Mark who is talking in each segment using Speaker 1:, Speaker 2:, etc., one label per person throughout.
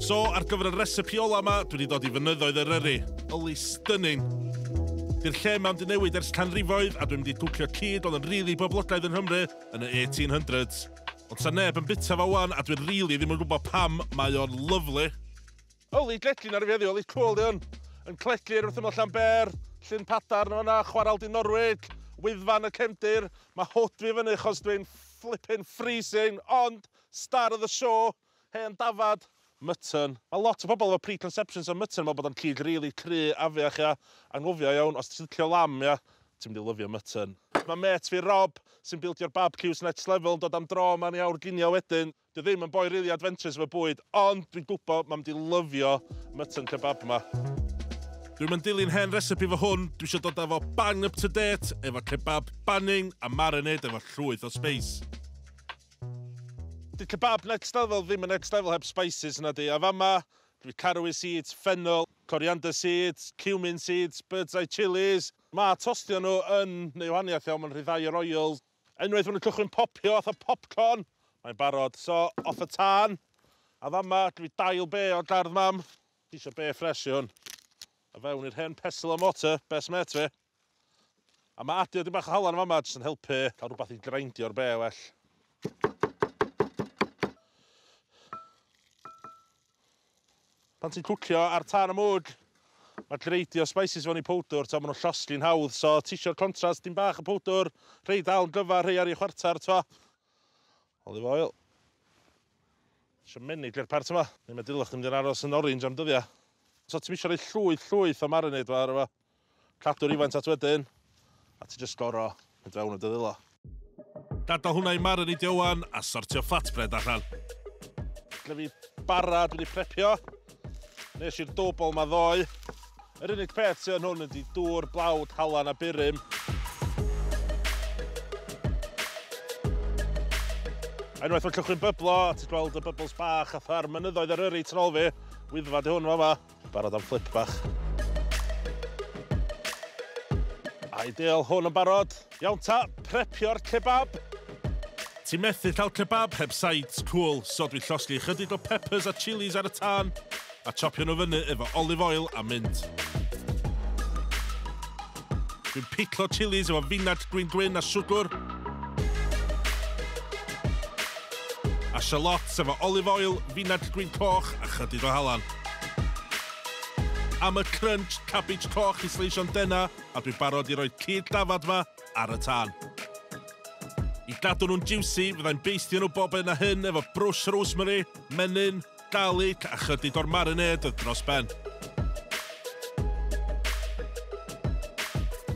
Speaker 1: So, ar gyfer y recipe ola yma, dwi wedi dod i fynyddoedd Eryri. Yli stunning. Di'r lle yma wedi newid ers canrifoedd a dwi'n mynd i gwcio cig oedd yn rili really boblogaidd yng Nghymru yn y 1800s. Ond sa neb yn bita fo wan a dwi'n rili ddim yn gwybod pam mae o'n lyfli. Yli gledlin ar y fi heddiw, yli cool di hwn. Yn cledlir wrth ymyl Llanber, Llyn Padarn o'na, Chwaral di Norwig, Wyddfan y cefndir. Mae hood fi fyny chos dwi'n flipping freezing, ond star of the show, hen dafad, mutton. Mae lot o bobl efo preconceptions o mutton, meddwl bod o'n cig rili cry, afiach, ia. Anghofio iawn, os ti'n licio lamb, ia, ti'n mynd i lyfio mutton. Mae mêt fi Rob, sy'n bildio'r barbecues next level, yn dod am dro yma ni awr ginio wedyn. Dwi ddim yn boi really adventurous efo bwyd, ond dwi'n gwybod mae'n mynd i lyfio mutton kebab yma. Dwi'n mynd dilyn hen recipe fo hwn, dwi eisiau dod â fo bang up to date, efo kebab banning a marinade efo llwyth o spice. Di kebab next level ddim yn next level heb spices yna di. A fama, dwi caraway seeds, fennel, coriander seeds, cumin seeds, bird's eye chilies. Mae tostio nhw yn neu wahaniaeth iawn, mae'n rhyddhau yr oil. Unwaith maen nhw'n cychwyn popio, fatha popcorn, mae'n barod. So, off y tân. A fama, dwi dail be o gardd mam. Ti eisiau be ffres i hwn. A fewn i'r hen pestle a mortar, best mate fi. A mae adio dim bach o halan fama, jyst yn helpu cael rhywbeth i grindio'r be well. Pan ti'n cwcio ar tân y mwg, mae greidio spices fewn i powdwr, to, maen nhw'n llosgi'n hawdd, so ti eisiau'r contrast, dim bach o powdwr, rhei dal yn gyfa, rhei ar ei chwarter, to. Olive oil. Isio menig i'r part yma. Neu mae dylech chdi'n mynd i'n aros yn orange am dyddiau. So ti'n isio rhoi llwyth, llwyth o marinade fo ar efo. Cadw rhywfaint at wedyn, a ti jyst goro mynd fewn y dy ddwylo. Gadael hwnna i marinade wan a sortio flatbread allan. Gyda fi bara dwi wedi prepio. Nes i'r dough ball ma ddoe. Yr unig peth sydd yn hwn ydy dŵr, blawd, halan a burum. A unwaith mae'n cychwyn byblo, a ti'n gweld y bubbles bach atha'r mynyddoedd Eryri tu ôl fi, Wyddfa di hwn fama. Barod am flip bach. Ideal, hwn yn barod. Iawn ta, prepio'r kebab. Ti'n methu cael kebab heb sides cool, so dwi'n llosgi chydig o peppers a chilies ar y tân a chopio nhw fyny efo olive oil a mint. Dwi'n piclo chilies efo finag gwin gwyn a siwgr. A shallots efo olive oil, finag gwin coch a chydig o halan. Am y crunch, cabbage coch i sleisio'n dena, a dwi'n barod i roi cig dafad ma ar y tân. I gadw nhw'n juicy, fyddai'n beistio nhw bob yn a hyn efo brwsh rosemary, menyn, garlic a chydig o'r marinade oedd dros ben.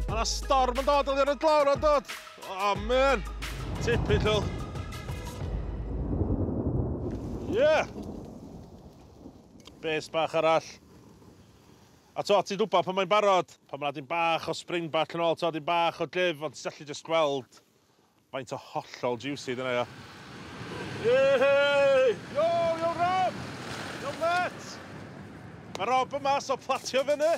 Speaker 1: Mae yna storm yn dod, oedd y glawr yn dod. Oh man, typical. Yeah! Base bach arall. A to, ti'n gwybod pan mae'n barod, pan mae'n dim bach o spring back yn ôl, to, dim bach o gyf, ond ti'n gallu just gweld faint o hollol juicy dyna, ia. Yey! Yo, yo Rob! Yo, mate! Mae Rob yma, so platio fyny.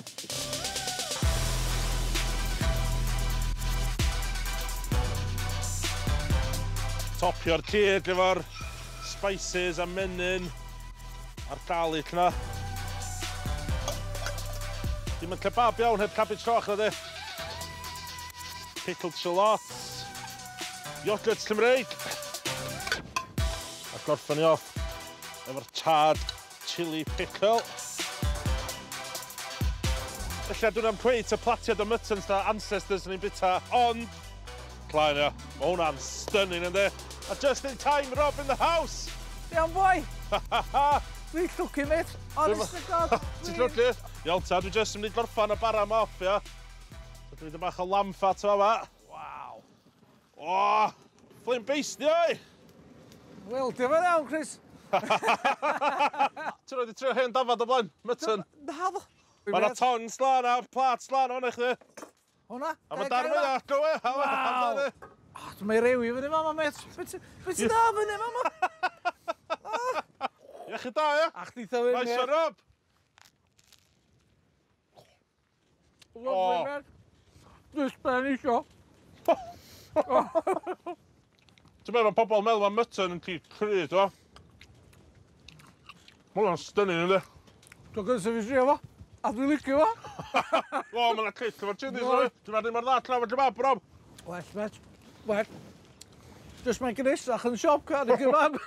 Speaker 1: Topio'r cig efo'r spices a menyn a'r garlic na. Dim yn kebab iawn heb cabbage coch na di. Pickled shallots. Yoghurt Cymreig. A gorffen ni off efo'r charred chili pickle. Felly dwi'n am cweit y platiad o muttons da ancestors ni'n bita, ond Claen ia, mae hwnna'n stunning yndi. A just in time, Rob in the house!
Speaker 2: Iawn boi! Dwi'n llwcu, mate. Honest to God.
Speaker 1: Ti'n llwcu? Iawn ta, dwi just yn mynd i gorffan y bara yma off, ia. So dwi'n mynd bach o lamb fat o fa.
Speaker 2: Waw.
Speaker 1: O, flame based ni oi!
Speaker 2: Wel, diolch yn iawn, Chris.
Speaker 1: Ti'n rhoi di trio hen dafad o blaen? Mutton?
Speaker 2: Na, ddo.
Speaker 1: Mae yna tongs lan a plat lan o'n i chdi.
Speaker 2: Hwna?
Speaker 1: A mae darn fwy go e.
Speaker 2: Waw. O, dwi'n ei rewi fyny fama, mate. Be ti'n da fyny fama?
Speaker 1: Iechyd da, ia?
Speaker 2: A chdi tha fyny.
Speaker 1: Nice one, Rob.
Speaker 2: Lovely, mate. Dwi'n sben isio.
Speaker 1: Ti'n meddwl, mae pobl yn meddwl mae mutton yn cig cry, ti'n Ma' hwnna'n stunning, yndi?
Speaker 2: Dwi'n gyntaf fi drio fo. A dwi'n licio fo.
Speaker 1: O, ma' 'na kick efo'r chillies, oes? Ti'n meddwl mor dda tra efo kebab, Rob?
Speaker 2: Well, mate. Well. Just mae'n gnesach yn siop, car i kebab.